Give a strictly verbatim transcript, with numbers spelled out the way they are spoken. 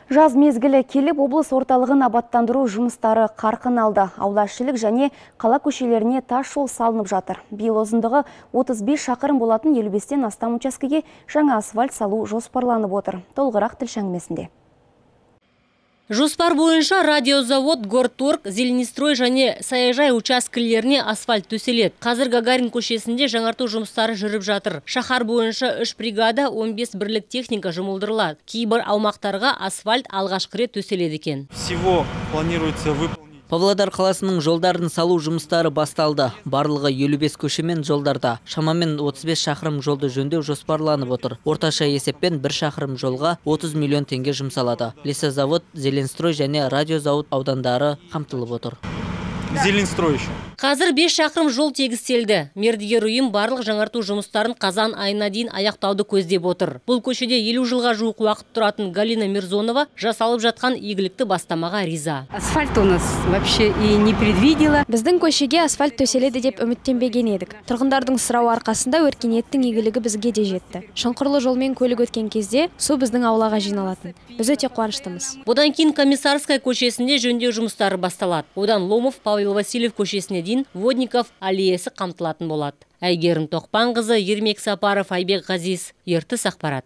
Жаз мезгілі келіп, облыс орталығын абаттандыру жұмыстары қарқын алды. Аулашылық және қала көшелеріне тас жол салынып жатыр. Биыл ұзындығы отыз бес шақырым болатын елу бестен астам учаскеге жаңа асфальт салу жоспарланып отыр. Толығырақ тілші әңгімесінде. Жоспар бойынша радиозавод, Горторг, Зеленстрой және Саяжай учаскелеріне асфальт төселеді. Қазір Гагарин көшесінде жаңарту жұмыстары жүріп жатыр. Шаһар бойынша үш бригада, он бес бірлік техника жұмылдырылады. Кейбір аумақтарға асфальт алғашқы рет төселеді екен. Всего планируется выполнить. Павлодар қаласының жолдарын салу жұмыстары басталды. Барлығы елу бес көшемен жолдарда. Шамамен отыз бес шақырым жолды жөндеу жоспарланып отыр. Орташа есеппен бір шақырым жолға отыз миллион теңге жұмсалады. Лесозавод, Зеленстрой және радиозавод аудандары қамтылып отыр. Зеленстрой еще. Қазір бес шақырым жол тегістелді. Мердігер ұйым барлық жаңарту жұмыстарын қазан айына дейін аяқтауды көздеп отыр. Бұл көшеде елу жылға жуық уақыт тұратын Галина Мирзонова жасалып жатқан игілікті бастамаға риза. Асфальт у нас вообще и не предвидела. Біздің көшеге асфальт төселеді деп үміттенбеген едік. Тұрғындардың сұрауы арқасында өркениеттің игілігі бізге де жетті. Шұңқырлы жолмен көлік өткен кезде су біздің аулаға жиналатын. Біз өте қуаныштымыз. Бұдан кейін Комиссарская көшесінде жөндеу жұмыстары басталады. Одан Ломов, Павел Васильев көшесіне дейін Водников аллеясы қамтылатын болады. Әйгерім Тоқпанқызы, Ермек Сапаров, Айбек Ғазиз, Ертіс ақпарат.